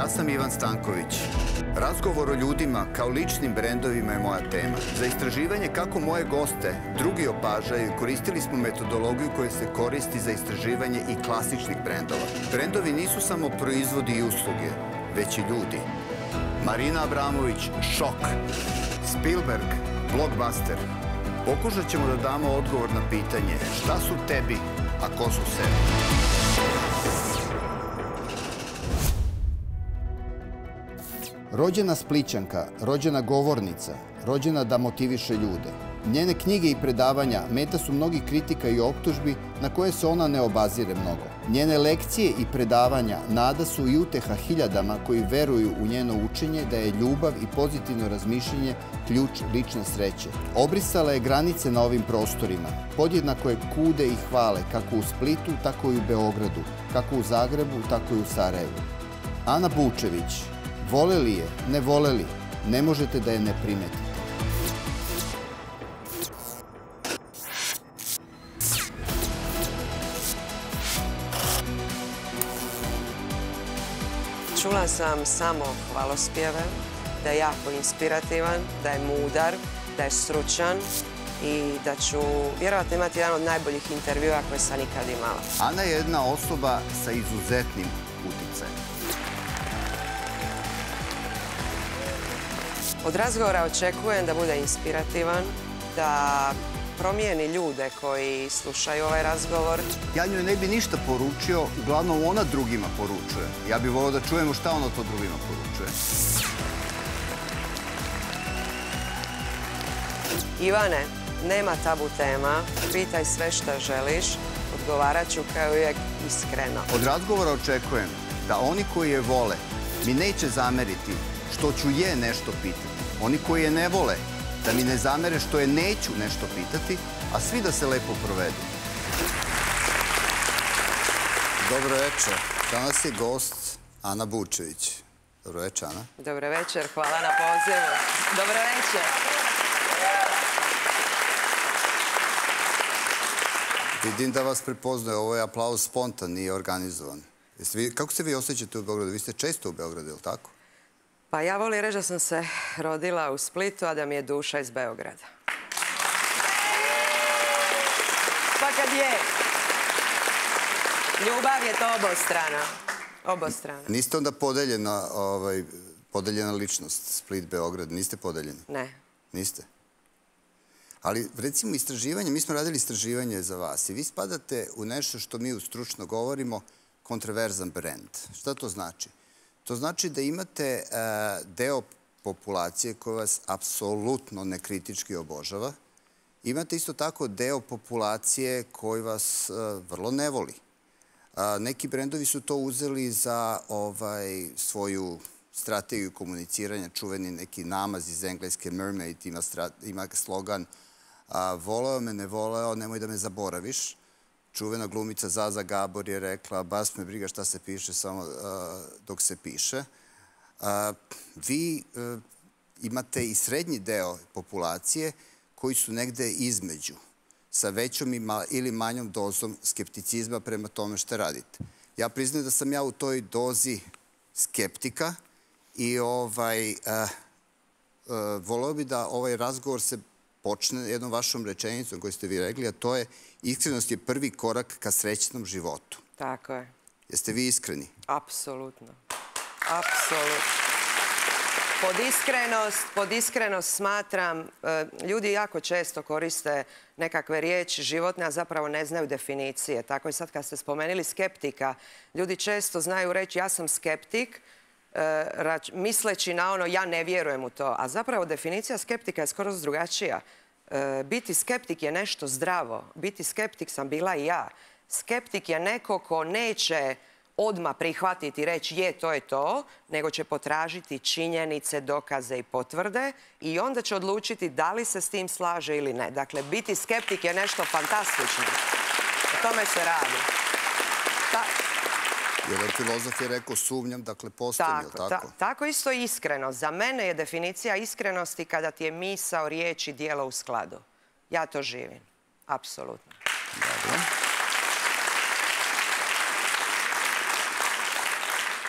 Ja sam Ivan Stanković. Razgovor o ljudima kao ličnim brendovima je moja tema. Za istraživanje kako moje goste drugi opažaju, koristili smo metodologiju koja se koristi za istraživanje i klasičnih brendova. Brendovi nisu samo proizvodi i usluge, već i ljudi. Marina Abramović, šok. Spielberg, blockbuster. Pokušat ćemo da damo odgovor na pitanje šta su tebi, a ko su sebi. Rođena Splićanka, rođena govornica, rođena da motiviše ljude. Njene knjige i predavanja meta su mnogih kritika i optužbi na koje se ona ne obazire mnogo. Njene lekcije i predavanja nada su i uteha hiljadama koji veruju u njeno učenje da je ljubav i pozitivno razmišljanje ključ lične sreće. Obrisala je granice na ovim prostorima. Podjednako je kude i hvale kako u Splitu, tako i u Beogradu, kako u Zagrebu, tako i u Sarajevu. Ana Bučević. Voleli je, ne voleli, ne možete da je ne primetite. Čula sam samo hvalospjeve, da je jako inspirativan, da je mudar, da je stručan i da ću vjerojatno imati jedan od najboljih intervjua koje sam nikad imala. Ana je jedna osoba sa izuzetnim uticajem. Od razgovora očekujem da bude inspirativan, da promijeni ljude koji slušaju ovaj razgovor. Ja njoj ne bi ništa poručio, uglavnom ona drugima poručuje. Ja bih volio da čujemo šta ona to drugima poručuje. Ivane, nema tabu tema, pitaj sve što želiš, odgovarat ću kao uvijek iskreno. Od razgovora očekujem da oni koji je vole mi neće zameriti što ću je nešto pitati. Oni koji je ne vole, da mi ne zamere što je neću nešto pitati, a svi da se lepo provedu. Dobro večer. Danas je gost Ana Bučević. Dobro večer, Ana. Dobro večer, hvala na pozivu. Dobro večer. Vidim da vas prepoznaje. Ovo je aplauz spontan, nije organizovan. Kako se vi osjećate u Beogradu? Vi ste često u Beogradu, je li tako? Pa ja volim reći da sam se rodila u Splitu, a da mi je duša iz Beograda. Pa kad je. Ljubav je to obostrana. Obostrana. Niste onda podeljena ličnost, Split, Beograd? Niste podeljeni? Ne. Niste? Ali recimo istraživanje, mi smo radili istraživanje za vas i vi spadate u nešto što mi stručno govorimo kontroverzan brend. Šta to znači? To znači da imate deo populacije koja vas apsolutno nekritički obožava. Imate isto tako deo populacije koji vas vrlo ne voli. Neki brendovi su to uzeli za svoju strategiju komuniciranja, čuveni neki namaz iz engleske Mermaid, ima slogan voleo me, ne voleo, nemoj da me zaboraviš. Čuvena glumica Zaza Gabor je rekla, bas me briga šta se piše, samo dok se piše. Vi imate i srednji deo populacije koji su negde između, sa većom ili manjom dozom skepticizma prema tome što radite. Ja priznajem da sam ja u toj dozi skeptika i voleo bi da ovaj razgovor se počne jednom vašom rečenicom koju ste vi rekli, a to je iskrenost je prvi korak ka srećnom životu. Tako je. Jeste vi iskreni? Apsolutno. Apsolutno. Pod iskrenost smatram, ljudi jako često koriste nekakve riječi životne, a zapravo ne znaju definicije. Tako i sad kad ste spomenuli skeptika, ljudi često znaju reći ja sam skeptik, misleći na ono ja ne vjerujem u to. A zapravo definicija skeptika je skoro drugačija. Biti skeptik je nešto zdravo. Biti skeptik sam bila i ja. Skeptik je neko ko neće odmah prihvatiti i reći je, to je to, nego će potražiti činjenice, dokaze i potvrde i onda će odlučiti da li se s tim slaže ili ne. Dakle, biti skeptik je nešto fantastično. O tome se radi. Jedan filozof je rekao sumnjam, dakle postojim, je li tako? Tako isto i iskrenost. Za mene je definicija iskrenosti kada ti je misao, riječ i djelo u skladu. Ja to živim. Apsolutno. Dobro.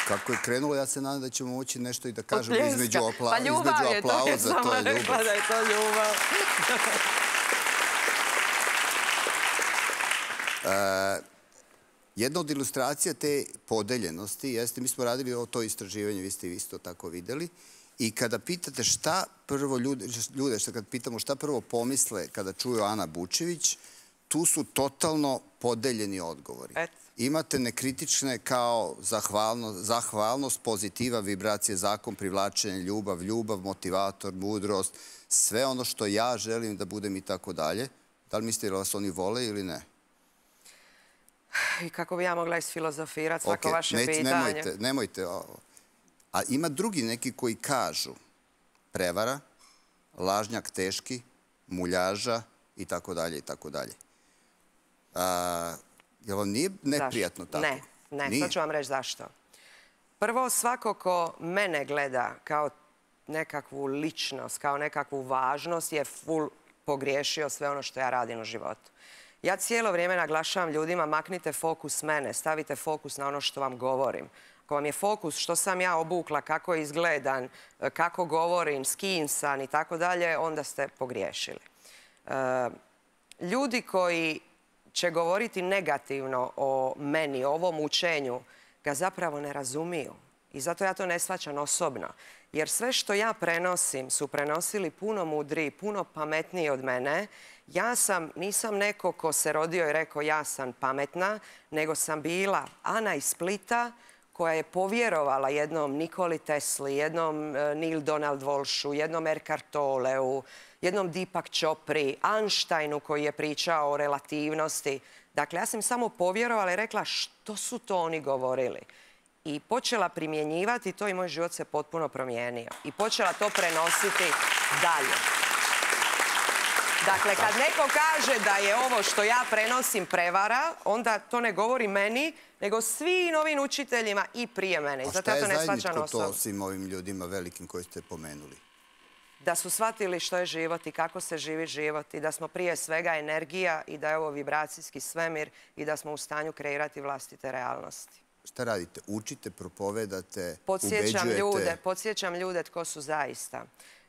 Kako je krenulo, ja se nadam da ćemo moći nešto i da kažemo između Pa ljubav je to, ja sam rekla da je to ljubav. Jedna od ilustracija te podeljenosti jeste, mi smo radili to istraživanje, vi ste isto tako videli, i kada pitate šta prvo ljude, kad pitamo šta prvo pomisle kada čuju Ana Bučević, tu su totalno podeljeni odgovori. Imate nekritične kao zahvalnost, pozitiva, vibracije, zakon, privlačenje, ljubav, motivator, mudrost, sve ono što ja želim da budem i tako dalje. Da li mislite da vas oni vole ili ne? I kako bi ja mogla isfilozofirati svako vaše pitanje? Nemojte. A ima drugi neki koji kažu prevara, lažnjak teški, muljaža i tako dalje i tako dalje. Jel vam nije neprijatno tako? Ne, sad ću vam reći zašto. Prvo, svako ko mene gleda kao nekakvu ličnost, kao nekakvu važnost je full pogriješio sve ono što ja radim u životu. Ja cijelo vrijeme naglašavam ljudima, maknite fokus mene, stavite fokus na ono što vam govorim. Ako vam je fokus što sam ja obukla, kako izgledam, kako govorim, s kim sam i tako dalje, onda ste pogriješili. Ljudi koji će govoriti negativno o meni, o ovom učenju, ga zapravo ne razumiju. I zato ja to ne shvaćam osobno. Jer sve što ja prenosim su prenosili puno mudriji, puno pametniji od mene. Nisam neko ko se rodio i rekao ja sam pametna, nego sam bila Ana iz Splita koja je povjerovala jednom Nikoli Tesli, jednom Neil Donald Walshu, jednom Eckhart Tolleu, jednom Deepak Chopri, Einsteinu koji je pričao o relativnosti. Dakle, ja sam samo povjerovala i rekla što su to oni govorili. I počela primjenjivati to i moj život se potpuno promijenio. I počela to prenositi dalje. Dakle, kad neko kaže da je ovo što ja prenosim prevara, onda to ne govori meni, nego svim ovim učiteljima i prije mene. A šta je zajedničko to svim ovim ljudima velikim koji ste pomenuli? Da su shvatili što je život i kako se živi život i da smo prije svega energija i da je ovo vibracijski svemir i da smo u stanju kreirati vlastite realnosti. Šta radite? Učite, propovedate, ubeđujete? Podsjećam ljude tko su zaista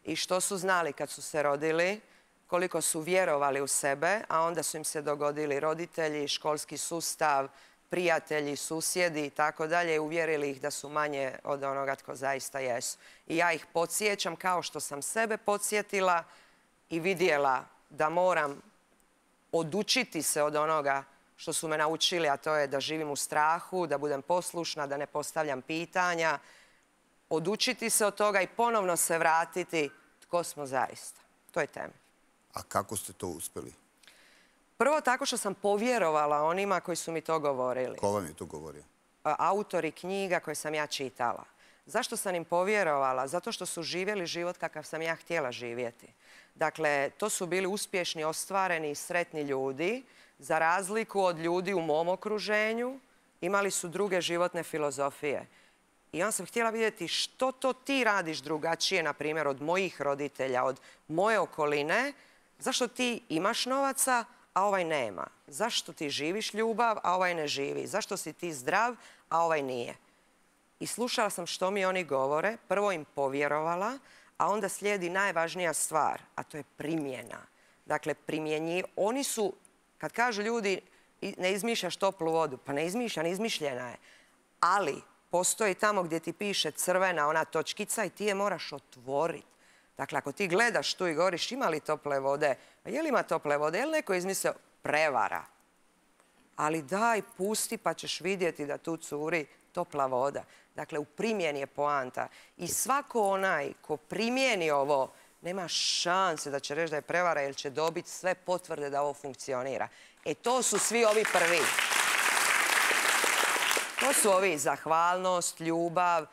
i što su znali kad su se rodili, koliko su vjerovali u sebe, a onda su im se dogodili roditelji, školski sustav, prijatelji, susjedi i tako dalje, uvjerili ih da su manje od onoga tko zaista jesu. I ja ih podsjećam kao što sam sebe podsjetila i vidjela da moram odučiti se od onoga što su me naučili, a to je da živim u strahu, da budem poslušna, da ne postavljam pitanja, odučiti se od toga i ponovno se vratiti tko smo zaista. To je temelj. A kako ste to uspjeli? Prvo tako što sam povjerovala onima koji su mi to govorili. Ko vam je to govorio? Autori knjiga koje sam ja čitala. Zašto sam im povjerovala? Zato što su živjeli život kakav sam ja htjela živjeti. Dakle, to su bili uspješni, ostvareni i sretni ljudi. Za razliku od ljudi u mom okruženju, imali su druge životne filozofije. I onda sam htjela vidjeti što to ti radiš drugačije, na primjer, od mojih roditelja, od moje okoline. Zašto ti imaš novaca, a ovaj nema? Zašto ti živiš ljubav, a ovaj ne živi? Zašto si ti zdrav, a ovaj nije? I slušala sam što mi oni govore, prvo im povjerovala, a onda slijedi najvažnija stvar, a to je primjena. Dakle, oni su, kad kažu ljudi ne izmišljaš toplu vodu, pa ne izmišljam, izmišljena je. Ali postoji tamo gdje ti piše crvena ona točkica i ti je moraš otvoriti. Dakle, ako ti gledaš tu i govoriš ima li tople vode, a je li ima tople vode, je li neko izmislio prevara? Ali daj, pusti pa ćeš vidjeti da tu curi topla voda. Dakle, u primjeni je poanta. I svako onaj ko primjeni ovo, nema šanse da će reći da je prevara jer će dobiti sve potvrde da ovo funkcionira. E, to su svi ovi prvi. To su ovi zahvalnost, ljubav.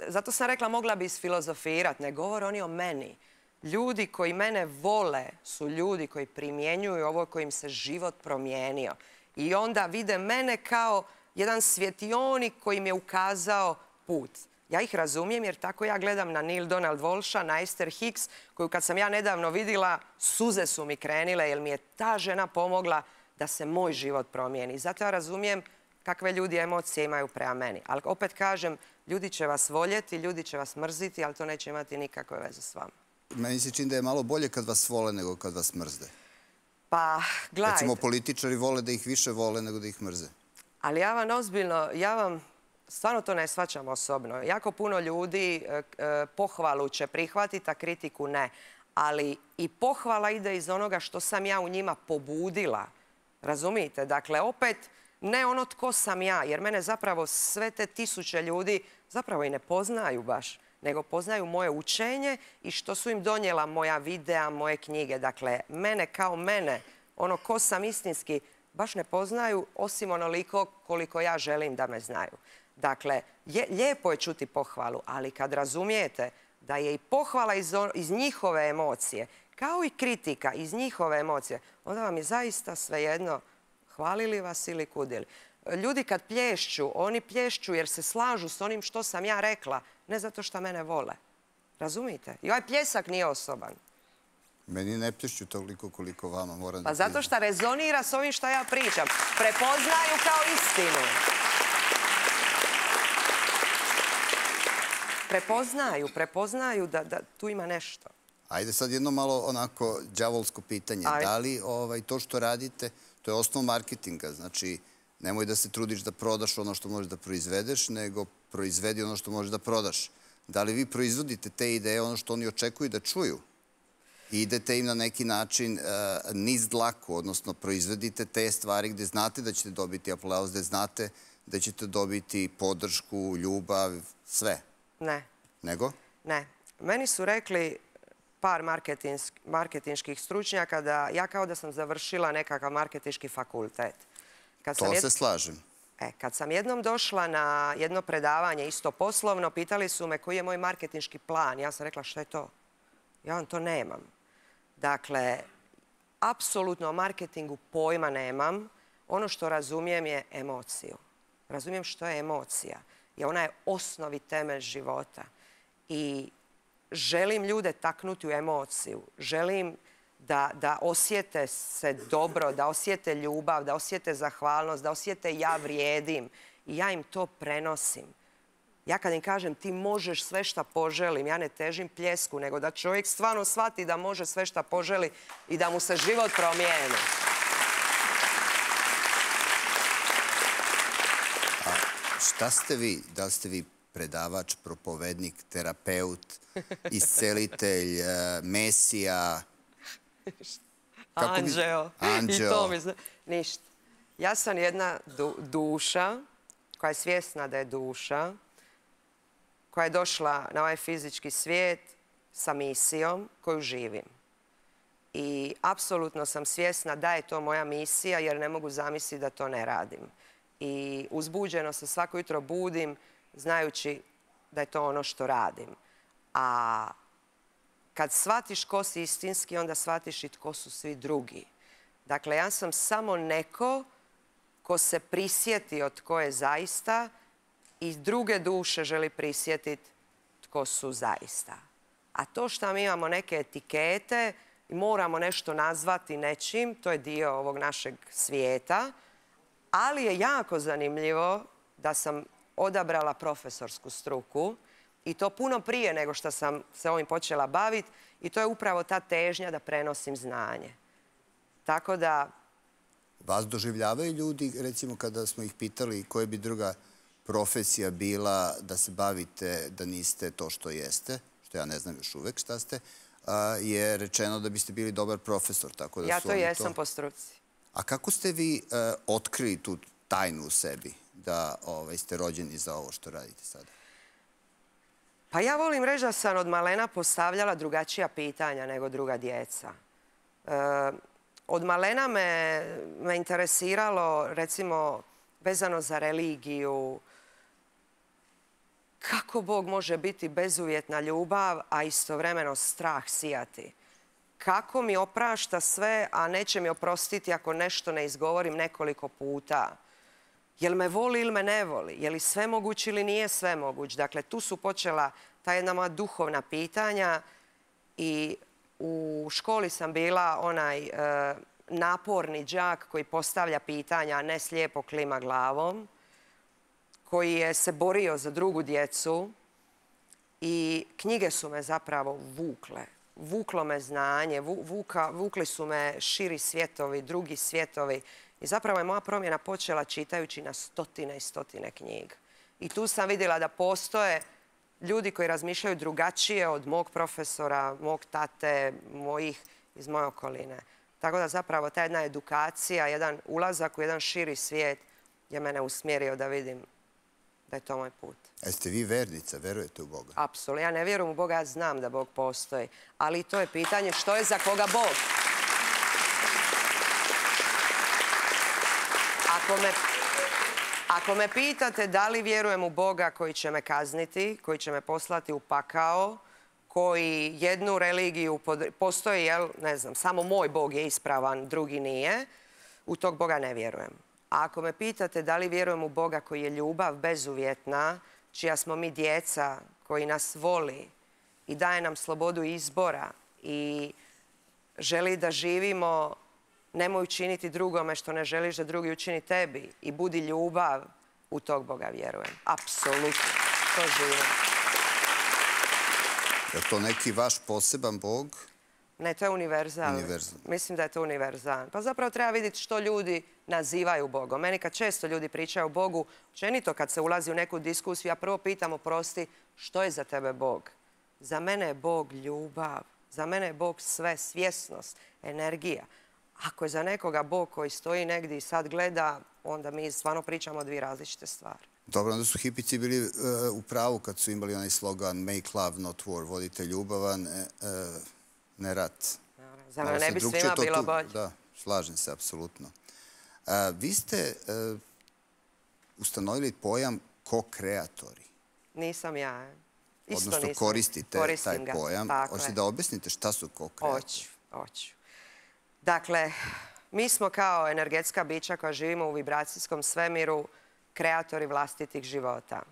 Zato sam rekla mogla bi isfilozofirati. Ne govore oni o meni. Ljudi koji mene vole su ljudi koji primjenjuju ovo kojim se život promijenio. I onda vide mene kao jedan svjetionik koji mi je ukazao put. Ja ih razumijem jer tako ja gledam na Neil Donald Walsha, na Esther Hicks, koju kad sam ja nedavno vidjela, suze su mi krenile jer mi je ta žena pomogla da se moj život promijeni. Zato ja razumijem kakve ljudi emocije imaju prema meni. Ali opet kažem, ljudi će vas voljeti, ljudi će vas mrziti, ali to neće imati nikakve veze s vama. Meni se čini da je malo bolje kad vas vole nego kad vas mrzde. Pa, gledajte. Recimo, političari vole da ih više vole nego da ih mrze. Ali ja vam ozbiljno, stvarno to ne shvaćam osobno. Jako puno ljudi pohvalu će prihvatiti, a kritiku ne. Ali i pohvala ide iz onoga što sam ja u njima pobudila. Razumijete? Dakle, opet ne ono tko sam ja, jer mene zapravo sve te tisuće ljudi zapravo i ne poznaju baš, nego poznaju moje učenje i što su im donijela moja videa, moje knjige. Dakle, mene kao mene, ono ko sam istinski, baš ne poznaju, osim onoliko koliko ja želim da me znaju. Dakle, lijepo je čuti pohvalu, ali kad razumijete da je i pohvala iz njihove emocije, kao i kritika iz njihove emocije, onda vam je zaista svejedno hvalili vas ili kudili. Ljudi kad plješću, oni plješću jer se slažu s onim što sam ja rekla, ne zato što mene vole. Razumijete? I ovaj pljesak nije osoban. Meni ne plješću toliko koliko vama, moram da Pa zato što rezonira s ovim što ja pričam. Prepoznaju kao istinu. Prepoznaju da tu ima nešto. Ajde sad jedno malo onako đavolsko pitanje. Da li to što radite, to je osnov marketinga, znači nemoj da se trudiš da prodaš ono što možeš da proizvedeš, nego proizvedi ono što možeš da prodaš. Da li vi proizvodite te ideje, ono što oni očekuju da čuju? I idete im na neki način niz dlaku, odnosno proizvedite te stvari gde znate da ćete dobiti aplauz, gde znate da ćete dobiti podršku, ljubav, sve? Ne. Nego? Ne. Meni su rekli par marketinških stručnjaka da ja kao da sam završila nekakav marketinški fakultet. To se slažem. Kad sam jednom došla na jedno predavanje, isto poslovno, pitali su me koji je moj marketinški plan. Ja sam rekla šta je to? Ja vam to nemam. Dakle, apsolutno o marketingu pojma nemam. Ono što razumijem je emociju. Razumijem što je emocija. I ona je osnovi temelj života. I želim ljude taknuti u emociju. Želim da osjete se dobro, da osjete ljubav, da osjete zahvalnost, da osjete ja vrijedim. I ja im to prenosim. Ja kad im kažem ti možeš sve šta poželim, ja ne težim pljesku, nego da čovjek stvarno shvati da može sve šta poželi i da mu se život promijeni. A šta ste vi? Da li ste vi predavač, propovednik, terapeut, iscelitelj, mesija? Anđeo. I to mi se... Ništa. Ja sam jedna duša koja je svjesna da je duša, koja je došla na ovaj fizički svijet sa misijom koju živim. I apsolutno sam svjesna da je to moja misija jer ne mogu zamisliti da to ne radim. I uzbuđeno se svako jutro budim znajući da je to ono što radim. A kad shvatiš ko si istinski, onda shvatiš i tko su svi drugi. Dakle, ja sam samo neko ko se prisjetio tko je zaista i druge duše želi prisjetiti tko su zaista. A to što mi imamo neke etikete i moramo nešto nazvati nečim, to je dio ovog našeg svijeta, ali je jako zanimljivo da sam odabrala profesorsku struku i to puno prije nego što sam se ovim počela baviti i to je upravo ta težnja da prenosim znanje. Tako da... Vas doživljavaju ljudi, recimo kada smo ih pitali koja bi druga profesija bila da se bavite da niste to što jeste, što ja ne znam još uvek šta ste, je rečeno da biste bili dobar profesor. Ja to jesam po struci. A kako ste vi otkrili tu tajnu u sebi da ste rođeni za ovo što radite sada? Pa ja volim reći da sam od malena postavljala drugačija pitanja nego druga djeca. Od malena me interesiralo, recimo, vezano za religiju, kako Bog može biti bezuvjetna ljubav, a istovremeno strah sijati. Kako mi oprašta sve, a neće mi oprostiti ako nešto ne izgovorim nekoliko puta. Jel me voli ili me ne voli? Je li sve moguć ili nije sve moguć? Dakle, tu su počela ta jedna moja duhovna pitanja i u školi sam bila onaj naporni đak koji postavlja pitanja, a ne slijepo klima glavom. koji je se borio za drugu djecu i knjige su me zapravo vukle. Vuklo me znanje, vukli su me širi svijetovi, drugi svijetovi. I zapravo je moja promjena počela čitajući na stotine i stotine knjiga. I tu sam vidjela da postoje ljudi koji razmišljaju drugačije od mog profesora, mog tate, mojih iz moje okoline. Tako da zapravo ta jedna edukacija, jedan ulazak u jedan širi svijet je mene usmjerio da vidim da je to moj put. Jeste vi vernica? Verujete u Boga? Apsolutno. Ja ne vjerujem u Boga, ja znam da Bog postoji. Ali to je pitanje što je za koga Bog. Ako me pitate da li vjerujem u Boga koji će me kazniti, koji će me poslati u pakao, koji jednu religiju, postoji, jel, ne znam, samo moj Bog je ispravan, drugi nije, u tog Boga ne vjerujem. A ako me pitate da li vjerujem u Boga koji je ljubav bezuvjetna, čija smo mi djeca, koji nas voli i daje nam slobodu izbora i želi da živimo, nemoj učiniti drugome što ne želiš da drugi učini tebi i budi ljubav, u tog Boga vjerujem. Apsolutno. To živim. Je to neki vaš poseban Bog? Ne, to je univerzalno. Mislim da je to univerzalno. Pa zapravo treba vidjeti što ljudi nazivaju Bogom. Meni kad često ljudi pričaju o Bogu, općenito kad se ulazi u neku diskusiju, ja prvo pitam, oprosti, što je za tebe Bog? Za mene je Bog ljubav. Za mene je Bog sve, svjesnost, energija. Ako je za nekoga Bog koji stoji negdje i sad gleda, onda mi stvarno pričamo o dvije različite stvari. Dobro, onda su hipici bili u pravu kad su imali onaj slogan Make love, not war, vodite ljubav, ne rat. Za mene ne bi svima bilo bolje. Da, slažem se, apsolutno. Vi ste ustanovili pojam ko-kreatori. Nisam ja. Odnosno koristite taj pojam. Hoćete da objasnite šta su ko-kreatori? Hoću. Dakle, mi smo kao energetska bića koja živimo u vibracijskom svemiru kreatori vlastitih života.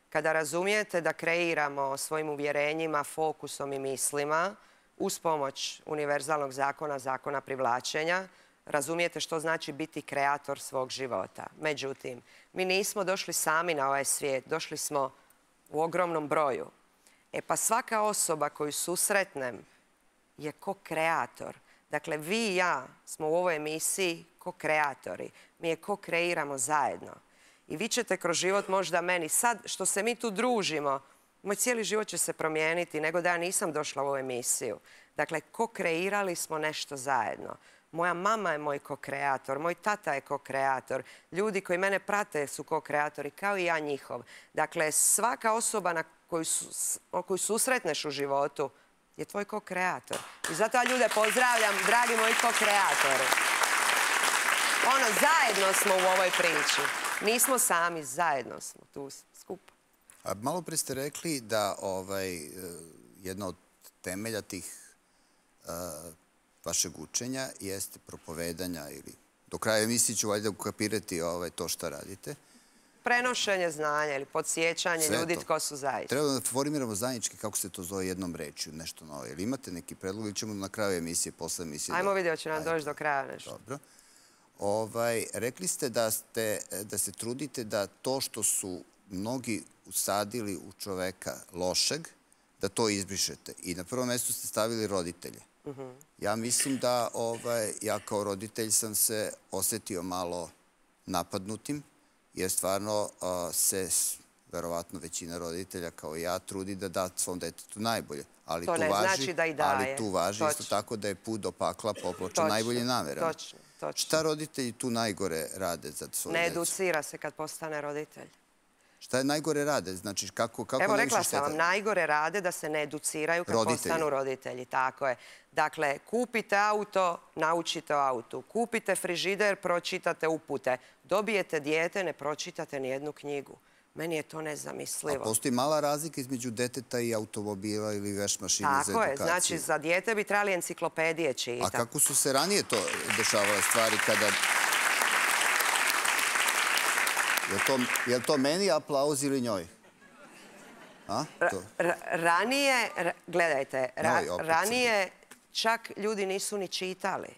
Kada razumijete da kreiramo svojim uvjerenjima, fokusom i mislima uz pomoć univerzalnog zakona, zakona privlačenja, razumijete što znači biti kreator svog života. Međutim, mi nismo došli sami na ovaj svijet, došli smo u ogromnom broju. E pa svaka osoba koju susretnem je ko kreator. Dakle, vi i ja smo u ovoj emisiji ko kreatori. Mi je ko kreiramo zajedno. I vi ćete kroz život možda meni, sad što se mi tu družimo, moj cijeli život će se promijeniti nego da ja nisam došla u ovu emisiju. Dakle, ko kreirali smo nešto zajedno. Moja mama je moj ko-kreator, moj tata je ko-kreator, ljudi koji mene prate su ko-kreatori, kao i ja njihov. Dakle, svaka osoba na koju susretneš u životu je tvoj ko-kreator. I zato ja ljude pozdravljam, dragi moji ko-kreatori. Zajedno smo u ovoj priči. Nismo sami, zajedno smo tu skupa. Malo pre ste rekli da jedna od temelja tih vašeg učenja jeste propovedanja ili do kraja emisije ću valjda ukapirati to šta radite. Prenošenje znanja ili podsjećanje ljudi tko su zaista. Treba da formiramo zajednički, kako se to zove, jednom rečju, nešto novo. Ili imate neki predlog ili ćemo na kraju emisije, posle emisije... Ajmo vidjeti, će nam doći do kraja nešto. Dobro. Rekli ste da se trudite da to što su mnogi usadili u čoveka lošeg, da to izbrišete. I na prvom mjestu ste stavili roditelje. Ja mislim da ja kao roditelj sam se osjetio malo napadnutim, jer stvarno se, verovatno većina roditelja kao ja, trudi da da svom detetu najbolje. To ne znači da i daje. Ali tu važi isto tako da je put do pakla popločen najbolje namerama. Točno. Šta roditelji tu najgore rade za svoju decu? Ne educira se kad postane roditelj. Šta je najgore rade? Znači, kako Evo, rekla sam vam, najgore rade da se ne educiraju kad postanu roditelji. Tako je. Dakle, kupite auto, naučite o autu. Kupite frižider, pročitate upute. Dobijete dijete, ne pročitate ni jednu knjigu. Meni je to nezamislivo. A postoji mala razlika između deteta i automobila ili veš mašine za edukaciju? Tako je. Znači, za dijete bi trebali enciklopedije čitati. A kako su se ranije to dešavale stvari kada... Je li to meni aplauz ili njoj? Ranije, gledajte, ranije čak ljudi nisu ni čitali.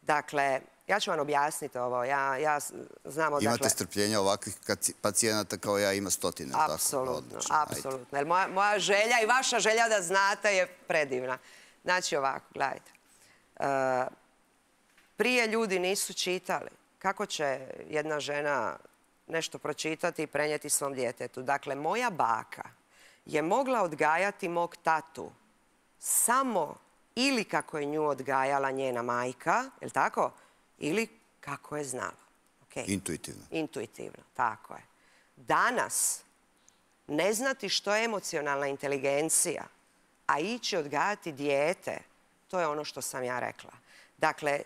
Dakle, Ja ću vam objasniti ovo. Ja znam odakle... Imate strpljenja ovakvih pacijenata kao ja ima stotine. Apsolutno, apsolutno. Jer moja želja i vaša želja da znate je predivna. Znači ovako, gledajte. Prije ljudi nisu čitali. Kako će jedna žena nešto pročitati i prenijeti svom djetetu? Dakle, moja baka je mogla odgajati mog tatu samo ili kako je nju odgajala njena majka, je li tako? Ili kako je znala. Intuitivno. Intuitivno, tako je. Danas, ne znati što je emocionalna inteligencija, a ići odgajati dijete, to je ono što sam ja rekla. Dakle,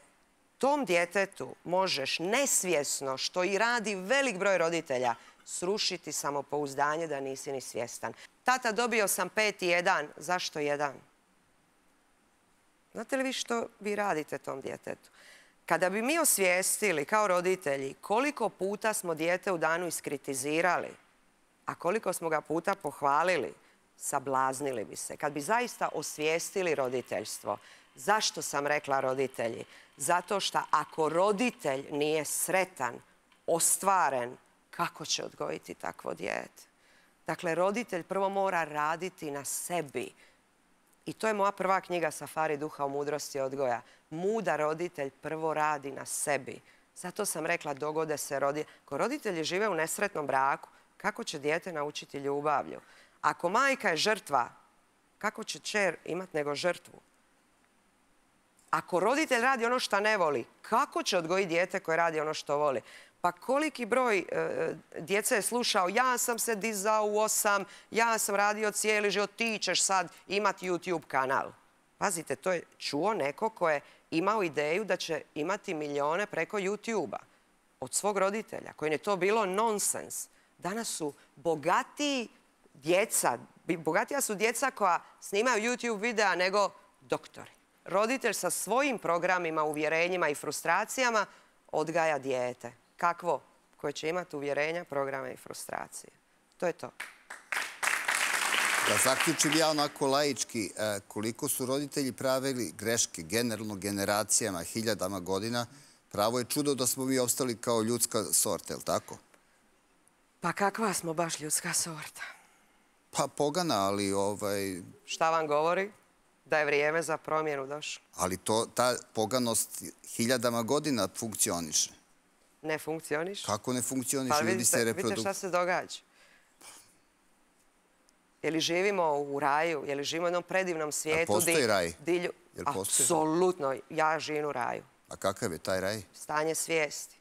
tom djetetu možeš nesvjesno, što i radi velik broj roditelja, srušiti samopouzdanje da nisi ni svjestan. Tata, dobio sam 5,1. Zašto 1? Znate li vi što vi radite tom djetetu? Kada bi mi osvijestili kao roditelji koliko puta smo dijete u danu iskritizirali, a koliko smo ga puta pohvalili, sablaznili bi se. Kad bi zaista osvijestili roditeljstvo, zašto sam rekla roditelji? Zato što ako roditelj nije sretan, ostvaren, kako će odgojiti takvo dijete? Dakle, roditelj prvo mora raditi na sebi. I to je moja prva knjiga Safari duha o mudrosti odgoja. Mudar roditelj prvo radi na sebi. Zato sam rekla, dogode se roditelji. Ako roditelji žive u nesretnom braku, kako će dijete naučiti ljubavlju? Ako majka je žrtva, kako će kćer imati nego žrtvu? Ako roditelj radi ono što ne voli, kako će odgojiti dijete koje radi ono što voli? Pa koliki broj djece je slušao, ja sam se dizao u 8, ja sam radio cijeli život, ti ćeš sad imati YouTube kanal. Pazite, to je čuo neko ko je imao ideju da će imati milijone preko YouTube-a od svog roditelja, kojim je to bilo nonsens. Danas su bogatiji djeca, bogatija su djeca koja snimaju YouTube videa nego doktori. Roditelj sa svojim programima, uvjerenjima i frustracijama odgaja dijete. Kakvo? Koje će imati uvjerenja, programe i frustracije. To je to. Da zaključim ja onako laički, koliko su roditelji pravili greške generalno generacijama, hiljadama godina, pravo je čudo da smo mi ostali kao ljudska sorta, je li tako? Pa kakva smo baš ljudska sorta? Pa pogana, ali Šta vam govori? Da je vrijeme za promjenu došlo. Ali ta poganost hiljadama godina funkcioniše. Ne funkcioniš? Kako ne funkcioniše? Ljudi se Vidite šta se događa. Je li živimo u raju? Je li živimo u jednom predivnom svijetu? A postoji raj? Apsolutno. Ja živim u raju. A kakav je taj raj? Stanje svijesti.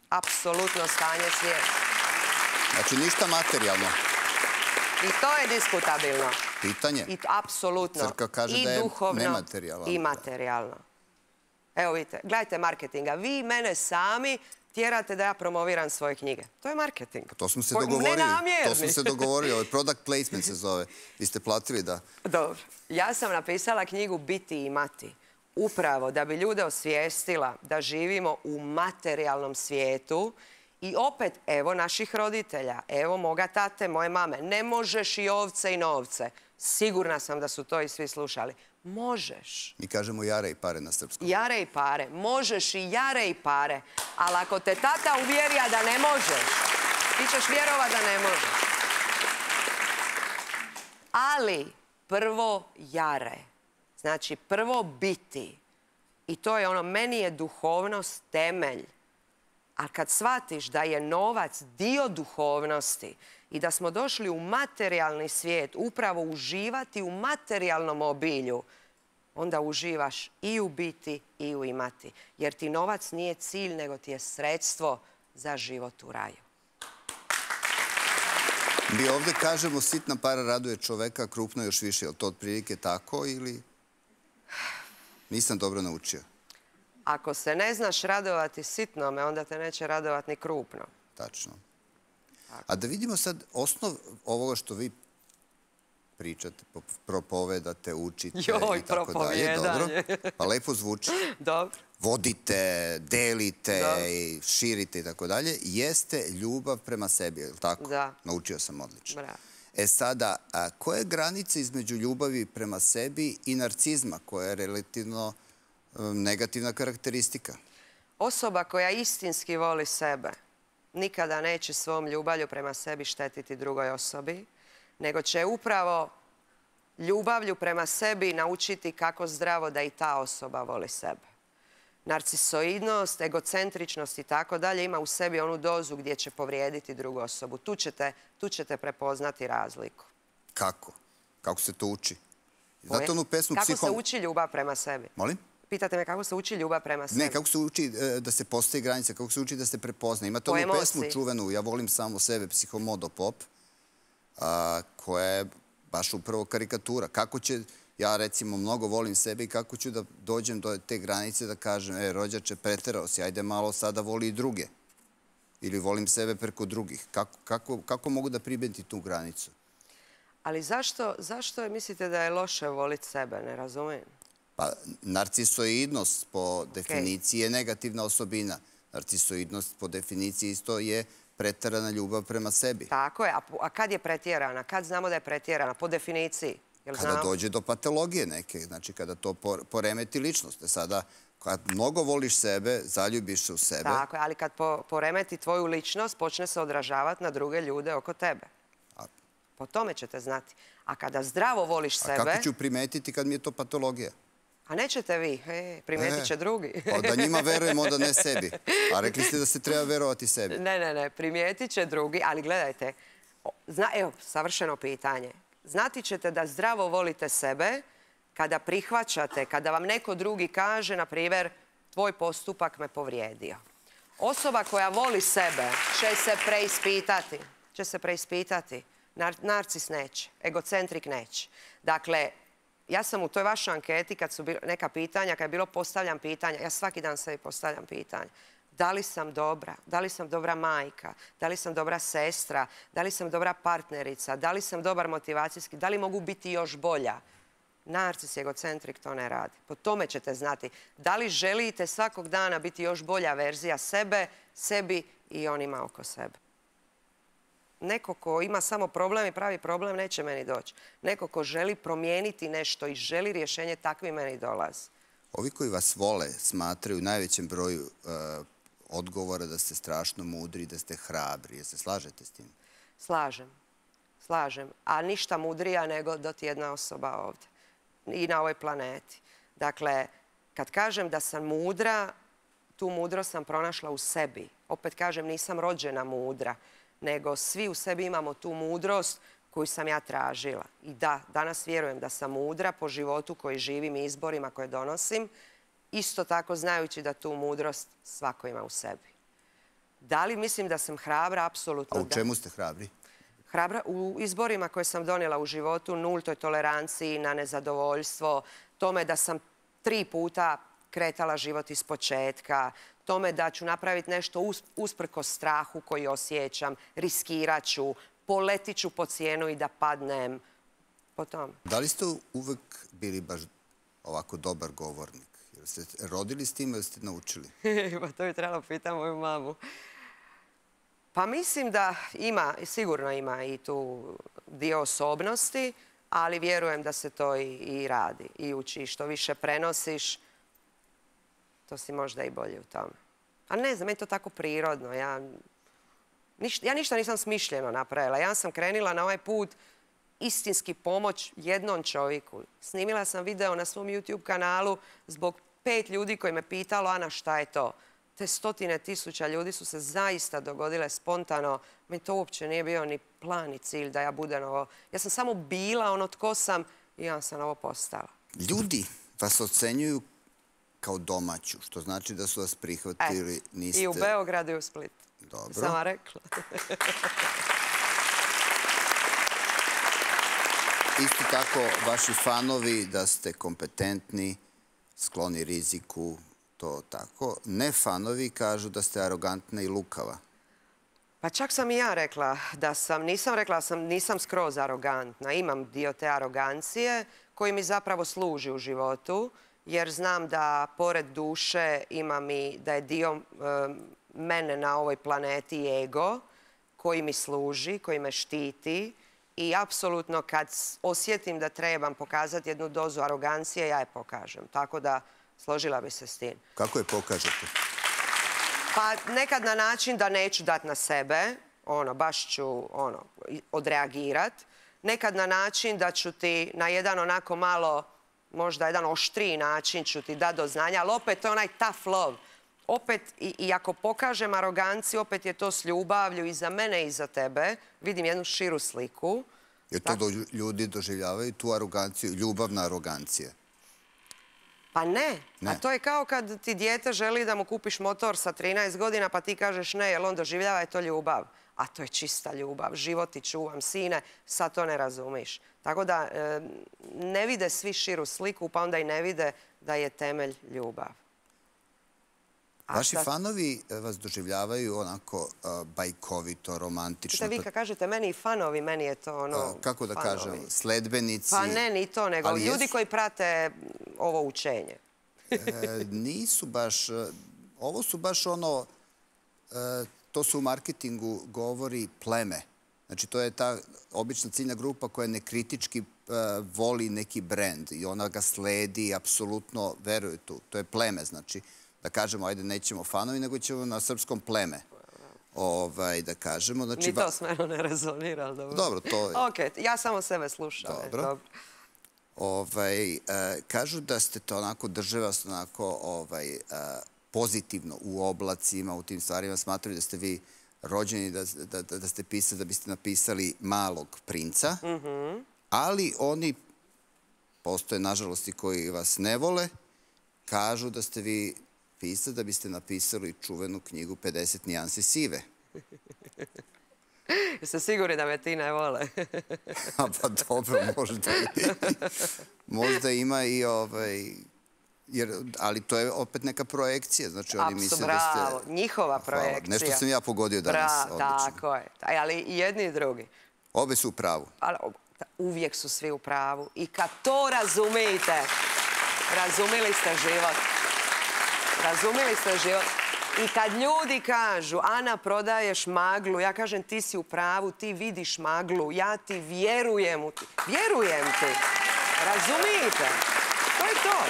Apsolutno stanje svijesti. Znači ništa materijalno? I to je diskutabilno. Pitanje? Apsolutno. Crkva kaže da je nematerijalno. I materijalno. Evo vidite, gledajte marketinga. Vi mene sami tjerate da ja promoviram svoje knjige. To je marketing. To smo se dogovorili. Nenamjerni. To smo se dogovorili. Ovo je product placement se zove. Vi ste platili da... Dobro. Ja sam napisala knjigu Biti i imati. Upravo da bi ljude osvijestila da živimo u materijalnom svijetu. I opet, evo naših roditelja, evo moga tate, moje mame. Ne možeš i ovce i novce. Sigurna sam da su to i svi slušali. Možeš. Mi kažemo jare i pare na srpskom. Jare i pare. Možeš i jare i pare. Ali ako te tata uvjerija da ne možeš, ti ćeš vjerovat da ne možeš. Ali prvo jare. Znači prvo biti. I to je ono, meni je duhovnost temelj. A kad shvatiš da je novac dio duhovnosti i da smo došli u materijalni svijet, upravo uživati u materijalnom obilju, onda uživaš i u biti i u imati. Jer ti novac nije cilj, nego ti je sredstvo za život u raju. Mi ovdje kažemo sitna para raduje čoveka, krupno još više. Je li to otprilike tako ili... Nisam dobro naučio. Ako se ne znaš radovati sitnome, onda te neće radovati ni krupno. Tačno. A da vidimo sad osnov ovoga što vi pričate, propovedate, učite i tako dalje. Dobro. Pa lepo zvuči. Dobro. Vodite, delite i širite i tako dalje. Jeste ljubav prema sebi, je li tako? Da. Naučio sam odlično. Bravo. E sada, koja je granica između ljubavi prema sebi i narcizma, koja je relativno negativna karakteristika? Osoba koja istinski voli sebe nikada neće svom ljubavlju prema sebi štetiti drugoj osobi, nego će upravo ljubavlju prema sebi naučiti kako zdravo da i ta osoba voli sebe. Narcisoidnost, egocentričnost i tako dalje ima u sebi onu dozu gdje će povrijediti drugu osobu. Tu ćete prepoznati razliku. Kako? Kako se to uči? Zato onu pesmu kako se uči ljubav prema sebi? Molim? Pitate me kako se uči ljubav prema sebi? Ne, kako se uči da se postaje granica, kako se uči da se prepozna. Imate onu pesmu čuvenu, Ja volim samo sebe, Psihomodo Pop, koja je baš upravo karikatura. Kako će, ja recimo mnogo volim sebe i kako ću da dođem do te granice da kažem, rođače, preterao si, ajde malo sada voli i druge. Ili volim sebe preko drugih. Kako mogu da pribetim tu granicu? Ali zašto mislite da je loše voliti sebe? Ne razumijem. Pa, narcisoidnost po definiciji je negativna osobina. Narcisoidnost po definiciji isto je preterana ljubav prema sebi. Tako je. A kad je pretjerana? Kad znamo da je pretjerana? Po definiciji. Kada dođe do patologije neke, znači kada to poremeti ličnost. Sada, kad mnogo voliš sebe, zaljubiš se u sebe. Tako je, ali kad poremeti tvoju ličnost, počne se odražavati na druge ljude oko tebe. Po tome ćete znati. A kada zdravo voliš sebe... A kako ću primetiti kad mi je to patologija? A nećete vi, primetit će drugi. Da njima verujem, onda ne sebi. A rekli ste da se treba verovati sebi. Ne, primetit će drugi, ali gledajte, evo, savršeno pitanje. Znati ćete da zdravo volite sebe kada prihvaćate, kada vam neko drugi kaže, na primjer, tvoj postupak me povrijedio. Osoba koja voli sebe će se preispitati. Narcis neće, egocentrik neće. Dakle, ja sam u toj vašoj anketi, kad su neka pitanja, kad je bilo postavljam pitanja, ja svaki dan sebi postavljam pitanja. Da li sam dobra? Da li sam dobra majka? Da li sam dobra sestra? Da li sam dobra partnerica? Da li sam dobar motivacijski? Da li mogu biti još bolja? Narcis i egocentrik to ne radi. Po tome ćete znati. Da li želite svakog dana biti još bolja verzija sebe, sebi i onima oko sebe? Neko ko ima samo problem i pravi problem neće meni doći. Neko ko želi promijeniti nešto i želi rješenje, takvi meni dolazi. Ovi koji vas vole smatraju u najvećem broju odgovora da ste strašno mudri, da ste hrabri. Jel se slažete s tim? Slažem. A ništa mudrija nego doti jedna osoba ovdje i na ovoj planeti. Dakle, kad kažem da sam mudra, tu mudrost sam pronašla u sebi. Opet kažem, nisam rođena mudra, nego svi u sebi imamo tu mudrost koju sam ja tražila. I da, danas vjerujem da sam mudra po životu koji živim i izborima koje donosim, isto tako znajući da tu mudrost svako ima u sebi. Da li mislim da sam hrabra? Apsolutno da. A u čemu ste hrabri? Hrabra u izborima koje sam donijela u životu, nultoj toleranciji na nezadovoljstvo, tome da sam 3 puta kretala život iz početka, tome da ću napraviti nešto usprkos strahu koji osjećam, riskirat ću, poletit ću po cijenu i da padnem. Po tome. Da li ste uvek bili baš ovako dobar govornik? Jel ste rodili s tim ili ste naučili? Pa to bi trebalo pitati moju mamu. Pa mislim da sigurno ima i tu dio osobnosti, ali vjerujem da se to i radi i uči. Što više prenosiš, to si možda i bolje u tome. A ne znam, meni je to tako prirodno. Ja ništa nisam smišljeno napravila. Ja sam krenila na ovaj put istinski pomoć jednom čovjeku. Snimila sam video na svom YouTube kanalu zbog 5 ljudi koji me pitalo, Ana, šta je to? Te 100.000 ljudi su se zaista dogodile spontano. Meni to uopće nije bio ni plan ni cilj da ja budem ovo. Ja sam samo bila ono tko sam i ja sam ovo postala. Ljudi vas ocenjuju kao domaću, što znači da su vas prihvatili. I u Beogradu i u Splitu. Dobro. Sam vam rekla. Isto tako, vaši fanovi da ste kompetentni, skloni riziku, to tako. Ne fanovi kažu da ste arogantna i lukava. Pa čak sam i ja rekla da sam, nisam rekla da nisam skroz arogantna. Imam dio te arogancije koji mi zapravo služi u životu, jer znam da pored duše imam i da je dio mene na ovoj planeti ego koji mi služi, koji me štiti i apsolutno kad osjetim da trebam pokazati jednu dozu arogancije, ja je pokažem. Tako da složila bi se s tim. Kako je pokažete? Pa nekad na način da neću dat na sebe, baš ću odreagirat. Nekad na način da ću ti na jedan onako malo, možda jedan oštriji način ću ti dati do znanja, ali opet to je onaj tough love. Opet, i ako pokažem aroganciju, opet je to s ljubavlju i za mene i za tebe. Vidim jednu širu sliku. Jer to ljudi doživljavaju, tu aroganciju, ljubavna arogancija. Pa ne. A to je kao kad ti dijete želi da mu kupiš motor sa 13 godina, pa ti kažeš ne, jer on doživljava je to ljubav. A to je čista ljubav. Život ti čuvam, sine, sad to ne razumiš. Tako da ne vide svi širu sliku, pa onda i ne vide da je temelj ljubav. Vaši fanovi vas doživljavaju onako bajkovito, romantično. Vi kad kažete meni i fanovi, meni je to ono... Kako da kažem, sledbenici... Pa ne, ni to, nego ljudi koji prate ovo učenje. Nisu baš... Ovo su baš ono... To se u marketingu govori pleme. Znači, to je ta obična ciljna grupa koja nekritički voli neki brend i ona ga sledi i apsolutno veruje tu. To je pleme, znači... Da kažemo, ajde, nećemo fanovi, nego ćemo na srpskom pleme. Da kažemo. Ni to s mene ne rezonira, ali dobro. Dobro, to je... Ok, ja samo sebe slušam. Dobro. Kažu da ste to onako, drže vas onako pozitivno u oblacima, u tim stvarima. Smatraju da ste vi rođeni, da ste pisali, da biste napisali Malog princa. Ali oni, postoje nažalost i koji vas ne vole, kažu da ste vi pisali da biste napisali čuvenu knjigu 50 nijansi sive. Jeste sigurni da me ti ne vole? Pa dobro, možda ima i ali to je opet neka projekcija. Bravo, njihova projekcija. Nešto sam ja pogodio danas. Tako je. Ali i jedni i drugi. Obe su u pravu. Uvijek su svi u pravu. I kad to razumijete, razumili ste život. Razumili ste život. I kad ljudi kažu, Ana, prodaješ maglu, ja kažem, ti si u pravu, ti vidiš maglu, ja ti vjerujem u ti. Vjerujem ti. Razumijete? To je to.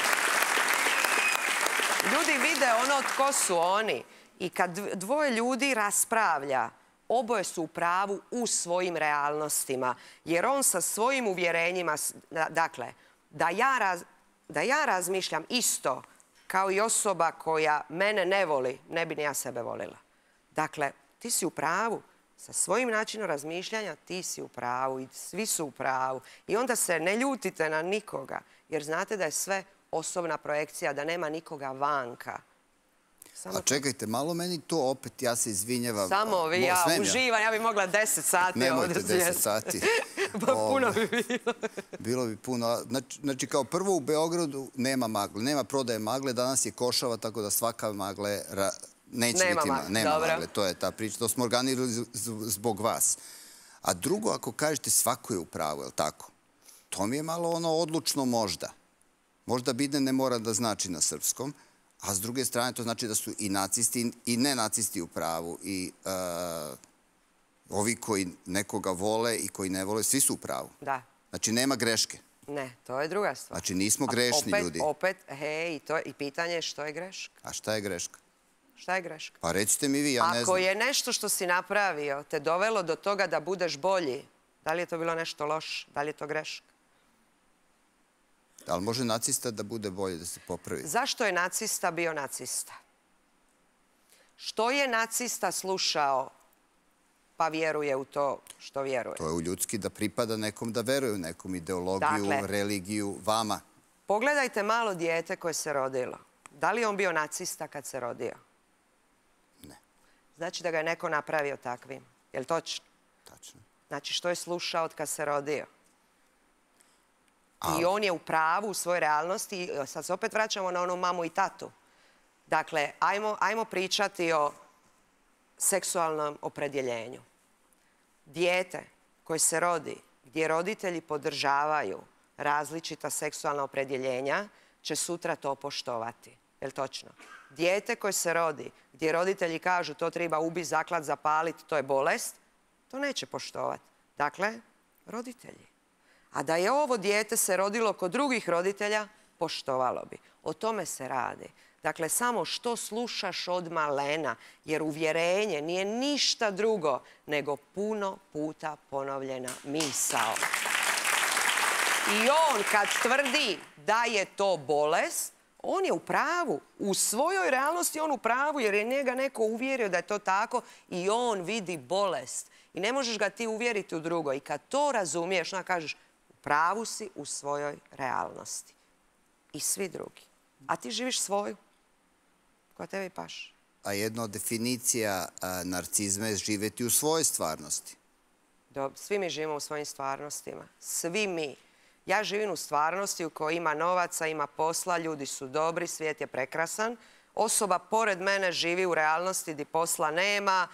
Ljudi vide ono tko su oni. I kad dvoje ljudi raspravlja, oboje su u pravu u svojim realnostima. Jer on sa svojim uvjerenjima, dakle, da ja razmišljam isto kao i osoba koja mene ne voli, ne bi ni ja sebe volila. Dakle, ti si u pravu. Sa svojim načinom razmišljanja ti si u pravu i svi su u pravu. I onda se ne ljutite na nikoga, jer znate da je sve osobna projekcija, da nema nikoga vanka. A čekajte, malo meni to opet, ja se izvinjavam. Samo vi, ja uživam, ja bih mogla 10 sati. Nemojte 10 sati. Puno bi bilo. Bilo bi puno. Znači, kao prvo u Beogradu nema magle, nema prodaje magle, danas je košava, tako da svaka magle neće biti magle. Nema magle, to je ta priča. To smo organizovali zbog vas. A drugo, ako kažete svako je u pravu, je li tako? To mi je malo ono odlučno možda. Možda Biden ne mora da znači na srpskom, a s druge strane to znači da su i nacisti i nenacisti u pravu i ovi koji nekoga vole i koji ne vole, svi su u pravu. Da. Znači nema greške. Ne, to je druga stvar. Znači nismo grešni ljudi. Opet, hej, i pitanje je što je greška. A šta je greška? Šta je greška? Pa recite mi vi, ja ne znam. Ako je nešto što si napravio te dovelo do toga da budeš bolji, da li je to bilo nešto loše? Da li je to greška? Ali može nacista da bude bolje, da se popravi? Zašto je nacista bio nacista? Što je nacista slušao pa vjeruje u to što vjeruje? To je u ljudski da pripada nekom, da veruje u nekom ideologiju, religiju, vama. Pogledajte malo dijete koje se rodilo. Da li je on bio nacista kad se rodio? Ne. Znači da ga je neko napravio takvim. Je li točno? Tačno. Znači što je slušao od kad se rodio? I on je u pravu u svojoj realnosti. Sad se opet vraćamo na onu mamu i tatu. Dakle, ajmo pričati o seksualnom opredjeljenju. Dijete koje se rodi, gdje roditelji podržavaju različita seksualna opredjeljenja, će sutra to poštovati. Je li točno? Dijete koje se rodi, gdje roditelji kažu to treba ubiti, zaklat, zapaliti, to je bolest, to neće poštovati. Dakle, roditelji. A da je ovo dijete se rodilo kod drugih roditelja, poštovalo bi. O tome se radi. Dakle, samo što slušaš od malena, jer uvjerenje nije ništa drugo nego puno puta ponovljena misao. I on kad tvrdi da je to bolest, on je u pravu. U svojoj realnosti on u pravu jer je njega neko uvjerio da je to tako i on vidi bolest. I ne možeš ga ti uvjeriti u drugo. I kad to razumiješ, onda kažeš u pravu si u svojoj realnosti. I svi drugi. A ti živiš svoju koja tebi paše. A jedna od definicija narcizma je živjeti u svojoj stvarnosti. Svi mi živimo u svojim stvarnostima. Svi mi. Ja živim u stvarnosti u kojoj ima novaca, ima posla, ljudi su dobri, svijet je prekrasan. Osoba pored mene živi u realnosti gdje posla nema,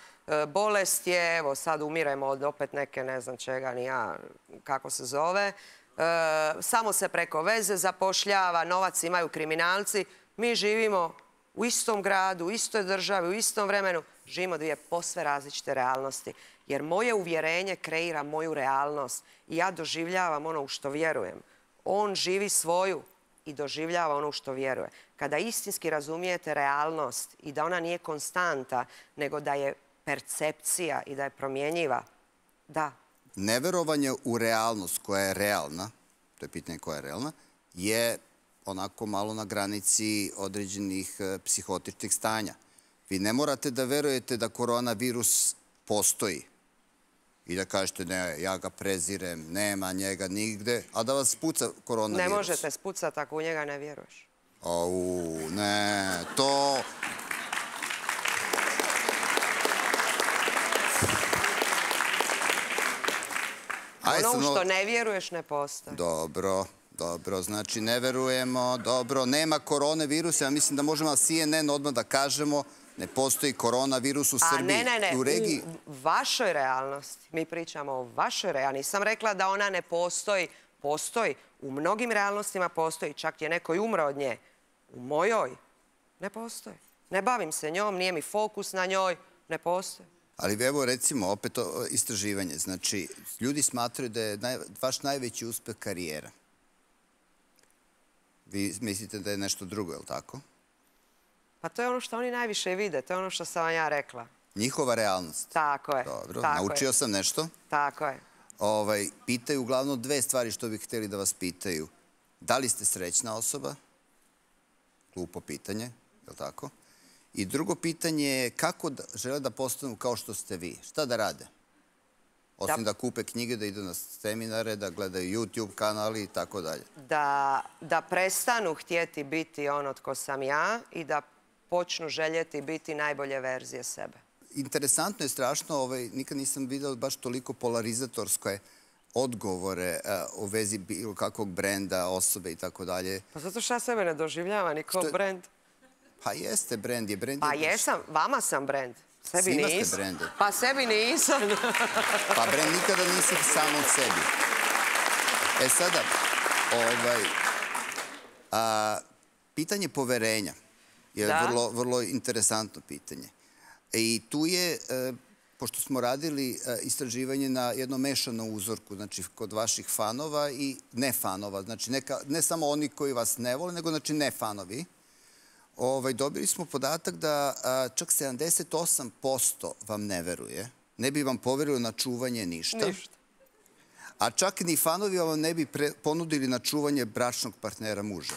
bolest je, evo sad umiremo od opet neke, ne znam čega, ni ja kako se zove. Samo se preko veze zapošljava, novac imaju kriminalci. Mi živimo u istom gradu, u istoj državi, u istom vremenu. Živimo dvije posve različite realnosti. Jer moje uvjerenje kreira moju realnost. I ja doživljavam ono u što vjerujem. On živi svoju i doživljava ono u što vjeruje. Kada istinski razumijete realnost i da ona nije konstanta, nego da je percepcija i da je promjenjiva, da. Neverovanje u realnost koja je realna, to je pitanje koja je realna, je onako malo na granici određenih psihotičnih stanja. Vi ne morate da verujete da koronavirus postoji i da kažete ne, ja ga prezirem, nema njega nigde, a da vas spuca koronavirus. Ne možete spucati ako u njega ne vjeruješ. Au, ne, to... Ono u što ne vjeruješ ne postoji. Dobro, dobro, znači ne verujemo, dobro, nema koronavirusa, ja mislim da možemo na CNN odmah da kažemo ne postoji koronavirus u Srbiji. Ne, u vašoj realnosti. Mi pričamo o vašoj realnosti. Nisam rekla da ona ne postoji. Postoji. U mnogim realnostima postoji. Čak je neko i umro od nje. U mojoj ne postoji. Ne bavim se njom, nije mi fokus na njoj. Ne postoji. Ali evo recimo opet istraživanje. Znači, ljudi smatraju da je vaš najveći uspeh karijera. Vi mislite da je nešto drugo, je li tako? Pa to je ono što oni najviše vide. To je ono što sam vam ja rekla. Njihova realnost. Tako je. Dobro, naučio sam nešto. Tako je. Pitaju uglavnom dve stvari što bi htjeli da vas pitaju. Da li ste srećna osoba? Glupo pitanje, je li tako? I drugo pitanje je kako žele da postanu kao što ste vi? Šta da rade? Osim da kupe knjige, da idu na seminare, da gledaju YouTube kanali i tako dalje. Da prestanu htjeti biti ono tko sam ja i da počnu željeti biti najbolje verzije sebe. Interesantno je, strašno, nikad nisam vidio baš toliko polarizatorske odgovore u vezi bilo kakvog brenda, osobe i tako dalje. Pa zato što ja sebe ne doživljava ni kao brend. Pa jeste, brend je. Pa jesam, vama sam brend. Sebi svima nisam. ste brendi. Pa sebi nisam. Pa brend nikada nisi sam od sebi. E sada, pitanje poverenja je vrlo interesantno pitanje. I tu je, pošto smo radili istraživanje na jednom mešanom uzorku, znači kod vaših fanova i ne fanova, znači ne samo oni koji vas ne vole, nego znači ne fanovi, dobili smo podatak da čak 78% vam ne veruje, ne bi vam poverilo na čuvanje ništa, a čak ni fanovi vam ne bi ponudili na čuvanje bračnog partnera muža.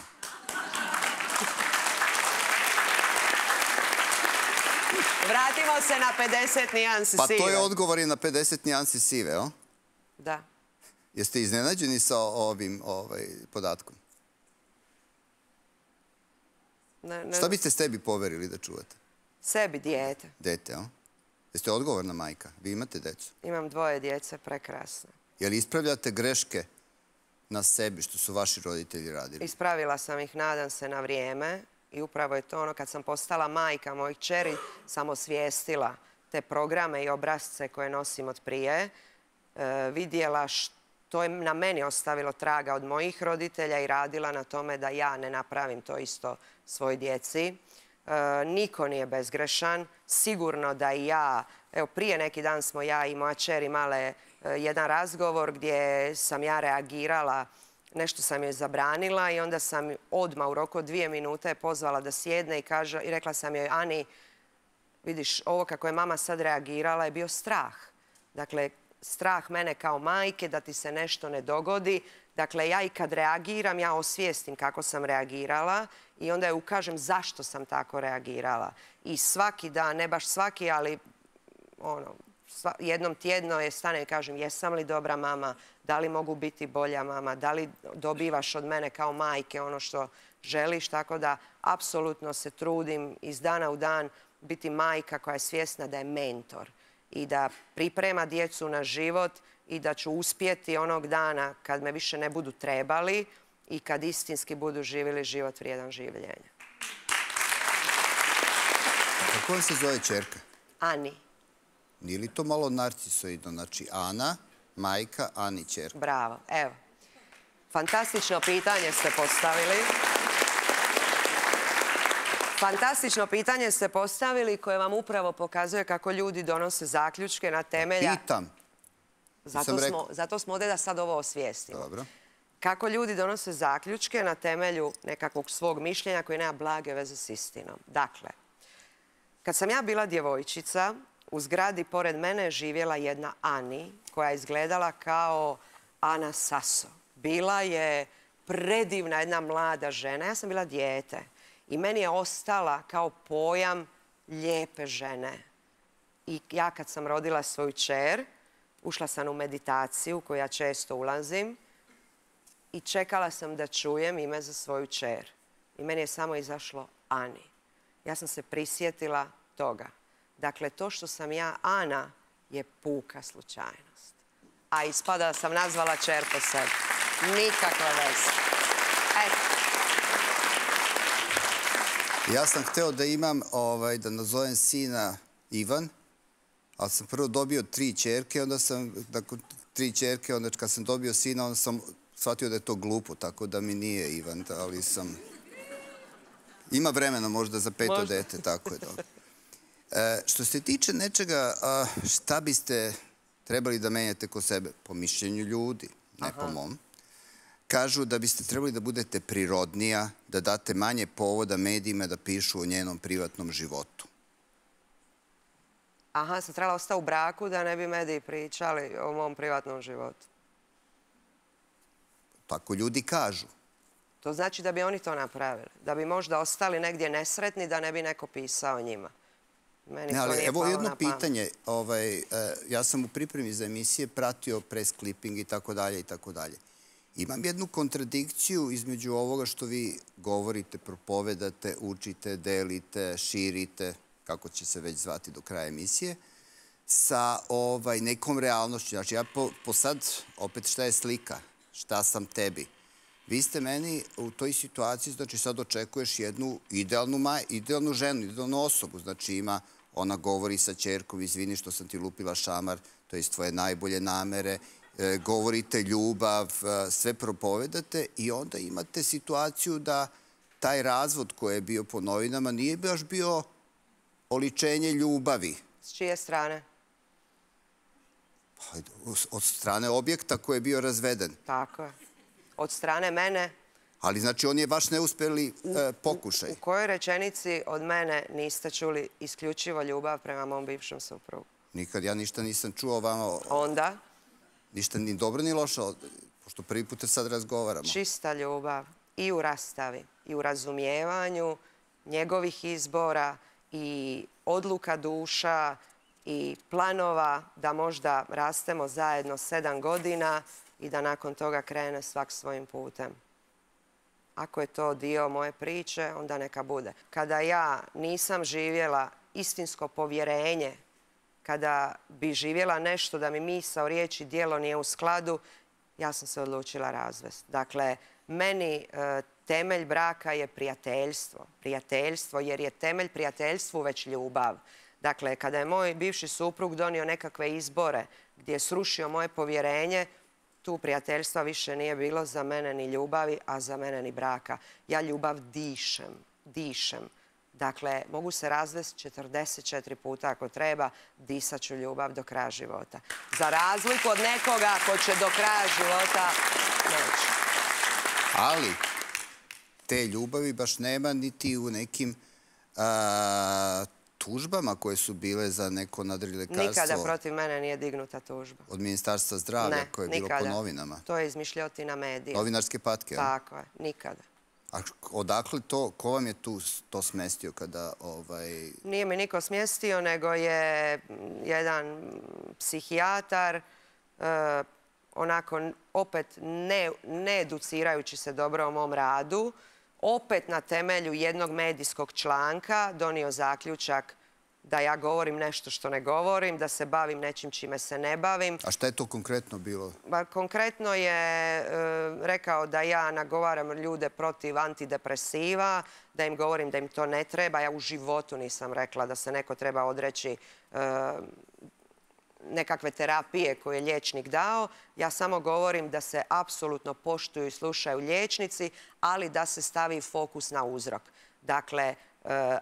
Vratimo se na 50 nijansi sive. Pa to je odgovor i na 50 nijansi sive, o? Da. Jeste iznenađeni sa ovim podatkom? Šta biste sebi poverili da čuvate? Sebi, dijete. Dete, o? Jeste odgovorna majka? Vi imate decu? Imam 2 djece, prekrasne. Je li ispravljate greške na sebi što su vaši roditelji radili? Ispravila sam ih, nadam se, na vrijeme. I upravo je to ono, kad sam postala majka mojih kćeri, sam osvijestila te programe i obrazce koje nosim od prije. Vidjela što je na meni ostavilo traga od mojih roditelja i radila na tome da ja ne napravim to isto svoj djeci. Niko nije bezgrešan. Sigurno da i ja, evo prije neki dan smo ja i moja kćer imale jedan razgovor gdje sam ja reagirala nešto sam joj zabranila i onda sam odmah u roku od 2 minute pozvala da sjedne i rekla sam joj, Ani, vidiš, ovo kako je mama sad reagirala je bio strah. Dakle, strah mene kao majke da ti se nešto ne dogodi. Dakle, ja i kad reagiram, ja osvijestim kako sam reagirala i onda je ukažem zašto sam tako reagirala. I svaki dan, ne baš svaki, ali jednom tjedno je stane i kažem jesam li dobra mama, da li mogu biti bolja mama, da li dobivaš od mene kao majke ono što želiš. Tako da, apsolutno se trudim iz dana u dan biti majka koja je svjesna da je mentor i da priprema djecu na život i da ću uspjeti onog dana kad me više ne budu trebali i kad istinski budu živjeli život vrijedan življenja. Kako vam se zove ćerka? Ani. Nije li to malo narcisoidno? Znači, Ana, majka, Ani ćerka. Bravo, evo. Fantastično pitanje ste postavili. Fantastično pitanje ste postavili koje vam upravo pokazuje kako ljudi donose zaključke na temelja... Pitam. Zato smo ovdje da sad ovo osvijestimo. Dobro. Kako ljudi donose zaključke na temelju nekakvog svog mišljenja koji nema blage veze s istinom. Dakle, kad sam ja bila djevojčica, u zgradi pored mene je živjela jedna Ani koja je izgledala kao Ana Saso. Bila je predivna jedna mlada žena. Ja sam bila dijete i meni je ostala kao pojam lijepe žene. I ja kad sam rodila svoju kćer, ušla sam u meditaciju u koju ja često ulazim i čekala sam da čujem ime za svoju kćer. I meni je samo izašlo Ani. Ja sam se prisjetila toga. Dakle, to što sam ja Ana je puka slučajnost. A ispada da sam nazvala kćer po sebi. Nikakva veze. Eto. Ja sam hteo da imam, da nazovem sina Ivan, ali sam prvo dobio 3 ćerke, onda sam, nakon 3 ćerke, onda kad sam dobio sina, onda sam shvatio da je to glupo, tako da mi nije Ivan, ali sam... Ima vremena možda za 5. dete, tako je dobro. Što se tiče nečega, šta biste trebali da menjate kod sebe? Po mišljenju ljudi, ne po mom. Kažu da biste trebali da budete prirodnija, da date manje povoda medijima da pišu o njenom privatnom životu. Aha, sam trebala ostati u braku da ne bi mediji pričali o mom privatnom životu. Tako ljudi kažu. To znači da bi oni to napravili. Da bi možda ostali negdje nesretni da ne bi neko pisao o njima. Meni to nije palo na pamet. Evo jedno pitanje. Ja sam u pripremi za emisije pratio press clipping i tako dalje i tako dalje. Imam jednu kontradikciju između ovoga što vi govorite, propovedate, učite, delite, širite, kako će se već zvati do kraja emisije, sa nekom realnošću. Znači, ja po sad, opet šta je slika, šta sam tebi. Vi ste meni u toj situaciji, znači sad očekuješ jednu idealnu ženu, idealnu osobu. Znači ona govori sa ćerkom, izvini što sam ti lupila šamar, to je tvoje najbolje namere, govorite ljubav, sve propovedate i onda imate situaciju da taj razvod koji je bio po novinama nije baš bio oličenje ljubavi. S čije strane? Od strane objekta koji je bio razveden. Tako je. Od strane mene. Ali znači on je baš neuspjeli pokušaj. U kojoj rečenici od mene niste čuli isključivo ljubav prema mom bivšem suprugu? Nikad, ja ništa nisam čuo o vama. Onda? Ništa ni dobro ni loše, pošto prvi put sad razgovaramo. Čista ljubav i u rastavi, i u razumijevanju njegovih izbora i odluka duša i planova da možda rastemo zajedno 7 godina i da nakon toga krene svak svojim putem. Ako je to dio moje priče, onda neka bude. Kada ja nisam živjela istinsko povjerenje, kada bi živjela nešto da mi misao, riječ i djelo nije u skladu, ja sam se odlučila razvesti. Dakle, meni temelj braka je prijateljstvo. Prijateljstvo, jer je temelj prijateljstvu već ljubav. Dakle, kada je moj bivši suprug donio nekakve izbore gdje je srušio moje povjerenje, tu prijateljstva više nije bilo za mene ni ljubavi, a za mene ni braka. Ja ljubav dišem. Dakle, mogu se razvesti 44 puta ako treba, disat ću ljubav do kraja života. Za razliku od nekoga ko će do kraja života neći. Ali te ljubavi baš nema niti u nekim tužbama koje su bile za neko nadrilekarstvo. Nikada protiv mene nije dignuta tužba. Od Ministarstva zdravlja koje je bilo po novinama. To je izmišljotina medija. Novinarske patke, a? Tako je, nikada. A odakle to, ko vam je tu to smestio kada... Nije mi niko smjestio, nego je jedan psihijatar, onako opet ne educirajući se dobro o mom radu, opet na temelju jednog medijskog članka donio zaključak da ja govorim nešto što ne govorim, da se bavim nečim čime se ne bavim. A šta je to konkretno bilo? Konkretno je rekao da ja nagovaram ljude protiv antidepresiva, da im govorim da im to ne treba. Ja u životu nisam rekla da se neko treba odreći nekakve terapije koje je liječnik dao. Ja samo govorim da se apsolutno poštuju i slušaju liječnici, ali da se stavi fokus na uzrok. Dakle,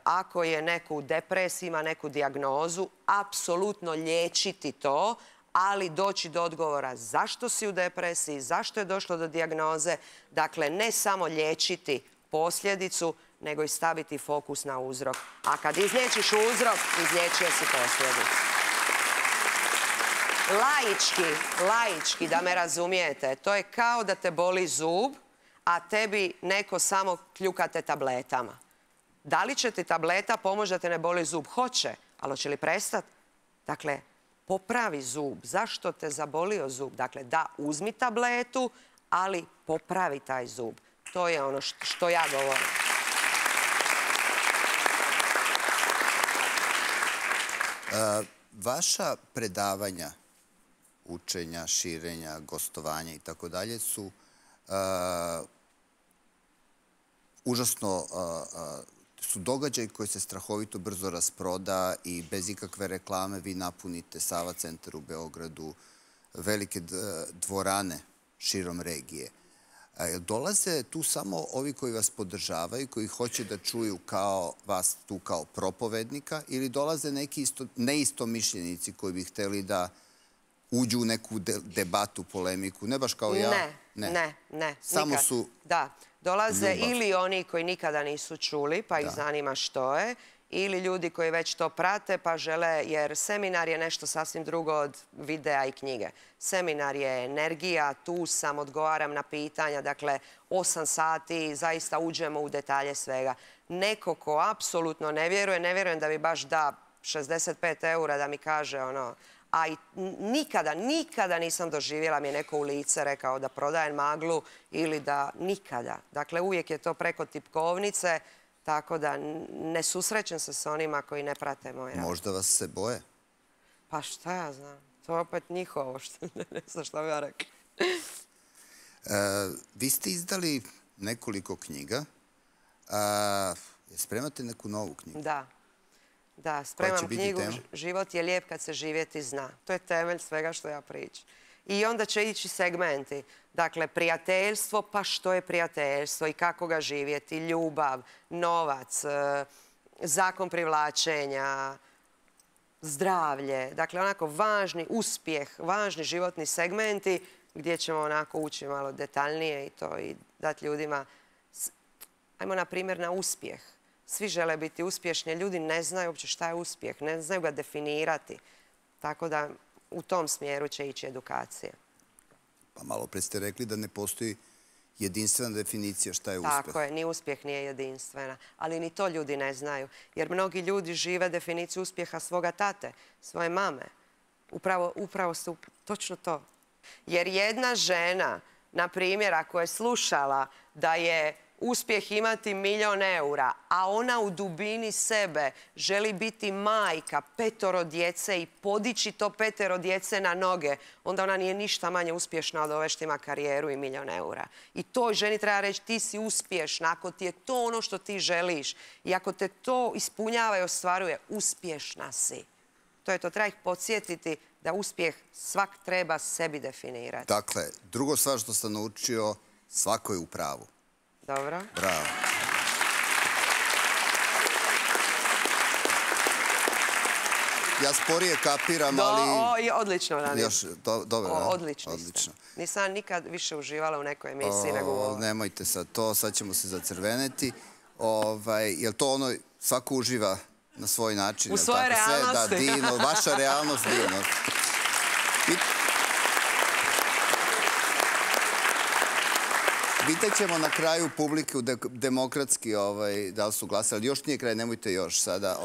ako je neko u depresiji, ima neku dijagnozu, apsolutno liječiti to, ali doći do odgovora zašto si u depresiji, zašto je došlo do dijagnoze. Dakle, ne samo liječiti posljedicu, nego i staviti fokus na uzrok. A kad izliječiš uzrok, izliječio si posljedicu. Laički, da me razumijete, to je kao da te boli zub, a tebi neko samo kljukate tabletama. Da li će ti tableta pomoći da te ne boli zub? Hoće, ali hoće li prestati? Dakle, popravi zub. Zašto te zabolio zub? Dakle, da, uzmi tabletu, ali popravi taj zub. To je ono što ja govorim. Vaša predavanja, učenja, širenja, gostovanja i tako dalje su užasno su događaj koji se strahovito brzo rasproda i bez ikakve reklame vi napunite Sava centar u Beogradu, velike dvorane širom regije. Dolaze tu samo ovi koji vas podržavaju, koji hoće da čuju vas tu kao propovednika, ili dolaze neki neistomišljenici koji bi hteli da uđu u neku debatu, polemiku, ne baš kao ja? Ne. Samo su... Da, dolaze ili oni koji nikada nisu čuli, pa ih zanima što je, ili ljudi koji već to prate, pa žele, jer seminar je nešto sasvim drugo od videa i knjige. Seminar je energija, tu sam, odgovaram na pitanja, dakle, 8 sati, zaista uđemo u detalje svega. Neko ko apsolutno ne vjerujem da bi baš da 65 € da mi kaže ono, a i nikada nisam doživjela mi je neko u lice rekao da prodajem maglu ili da nikada. Dakle, uvijek je to preko tipkovnice, tako da ne susrećem se s onima koji ne prate moj rad. Možda vas se boje? Pa šta ja znam, to je opet njihovo, ne znam šta bi ja rekla. Vi ste izdali nekoliko knjiga. Spremate neku novu knjigu? Da, spremam knjigu Život je lijep kad se živjeti zna. To je temelj svega što ja pričam. I onda će ići segmenti. Dakle, prijateljstvo, pa što je prijateljstvo i kako ga živjeti, ljubav, novac, zakon privlačenja, zdravlje. Dakle, onako važni uspjeh, važni životni segmenti gdje ćemo onako ući malo detaljnije i to i dati ljudima. Ajmo na primjer na uspjeh. Svi žele biti uspješni, ljudi ne znaju uopće šta je uspjeh, ne znaju ga definirati. Tako da u tom smjeru će ići edukacija. Pa malo pre ste rekli da ne postoji jedinstvena definicija šta je uspjeh. Tako je, ni uspjeh nije jedinstvena, ali ni to ljudi ne znaju. Jer mnogi ljudi žive definiciju uspjeha svoga tate, svoje mame. Upravo su točno to. Jer jedna žena, na primjer, ako je slušala da je uspjeh imati 1.000.000 €, a ona u dubini sebe želi biti majka 5 djece i podići to 5 djece na noge, onda ona nije ništa manje uspješna od ove što ima karijeru i 1.000.000 €. I toj ženi treba reći ti si uspješna, ako ti je to ono što ti želiš i ako te to ispunjava i ostvaruje, uspješna si. To je to, treba ih podsjetiti da uspjeh svak treba sebi definirati. Dakle, drugo stvar što sam naučio, svako je u pravu. Dobro. Bravo. Ja sporije kapiram, ali... Odlično, Rani. Dobro, odlično. Nisam nikad više uživala u nekoj emisiji nego u ovom. Nemojte sad to, sad ćemo se zacrveneti. Je li to ono, svako uživa na svoj način? U svojoj realnosti. Da, divno, vaša realnost divno. Pitaćemo na kraju publiku demokratski da li su glasali. Još nije kraj, nemojte još sada.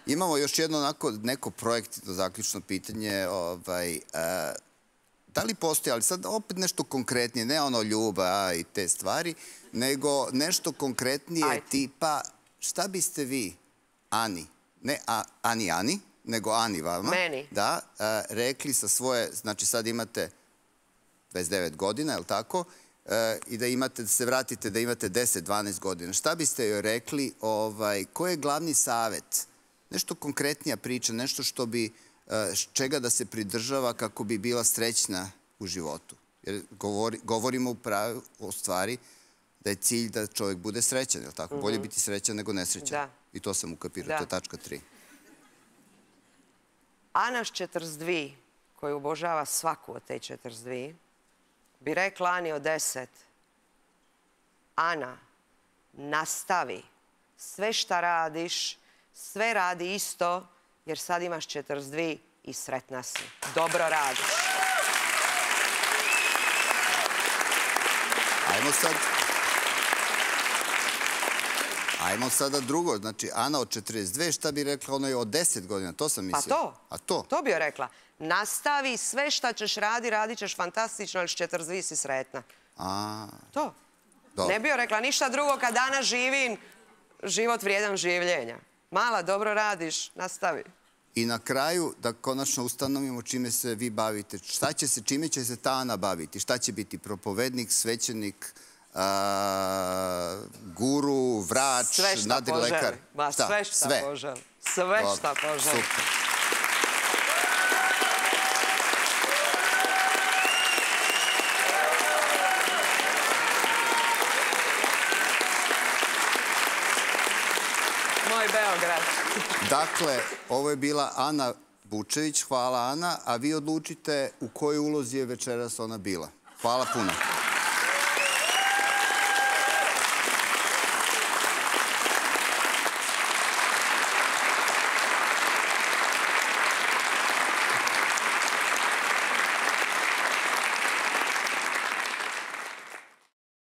Imamo još jedno neko projektno zaključno pitanje. Da li postoji, ali sad opet nešto konkretnije, ne ono ljubav i te stvari, nego nešto konkretnije tipa šta biste vi, Ani, ne Ani, nego Ani vama, meni, da, rekli sa svoje, znači sad imate 29 godina, je li tako? I da imate, da se vratite, da imate 10-12 godina. Šta biste joj rekli, koji je glavni savet? Nešto konkretnija priča, nešto što bi, čega da se pridržava kako bi bila srećna u životu. Jer govorimo o stvari da je cilj da čovjek bude srećan, je li tako? Bolje biti srećan nego nesrećan. I to sam ukapirao, to je tačka 3. Ana s 42, koju obožava svaku od te 42, bi rekla Ani od 10, Ana, nastavi, sve šta radiš, sve radi isto, jer sad imaš 42 i sretna si. Dobro radiš. Ajmo sada drugo. Znači, Ana od 42, šta bi rekla onoj od 10 godina? To sam mislio. Pa to. A to? To bi joj rekla. Nastavi sve šta ćeš radit ćeš fantastično, ali s 42 si sretna. To. Ne bi joj rekla ništa drugo kad danas živim život vrijedan življenja. Mala, dobro radiš, nastavi. I na kraju, da konačno ustanovimo čime se vi bavite. Čime će se ta Ana baviti? Šta će biti? Propovednik, svećenik, guru, vrač, nadrilekar? Sve šta poželi. Sve šta poželi. Moj Beograd. Dakle, ovo je bila Ana Bučević. Hvala, Ana. A vi odlučite u kojoj ulozi je večeras ona bila. Hvala puno.